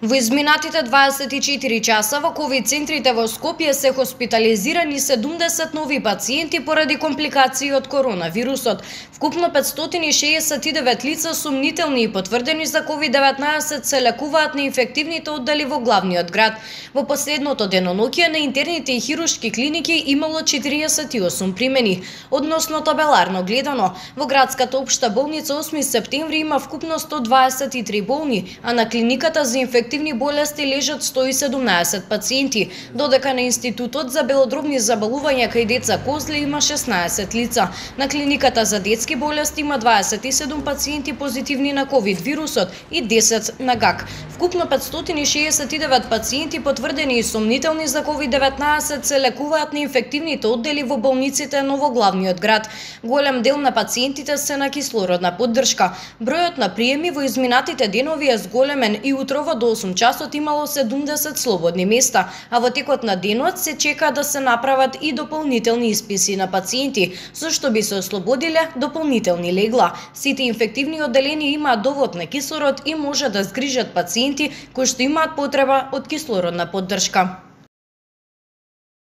Во изминатите 24 часа во ковид центрите во Скопје се хоспитализирани 70 нови пациенти поради компликации од коронавирусот. Вкупно 569 лица сумнителни и потврдени за COVID-19 се лекуваат на инфективните оддели во главниот град. Во последното деноноќие на интерните и хируршки клиники имало 48 примени. Односно табеларно гледано, во градската општа болница 8 септември има вкупно 123 болни, а на клиниката за инфективни болести лежат 117 пациенти, додека на Институтот за белодробни заболувања кај деца Козле има 16 лица. На клиниката за детски болести има 27 пациенти позитивни на ковид вирусот и 10 на ГАК. Вкупно 569 пациенти потврдени и сомнителни за COVID-19 се лекуваат на инфективните оддели во болниците но во главниот град. Голем дел на пациентите се на кислородна поддршка. Бројот на приеми во изминатите денови е зголемен и утрово до 8 часот имало 70 слободни места, а во текот на денот се чека да се направат и дополнителни исписи на пациенти, со што би се ослободиле дополнителни легла. Сите инфективни одделени имаат довод на кислород и може да згрижат пациенти кои што имаат потреба од кислородна поддршка.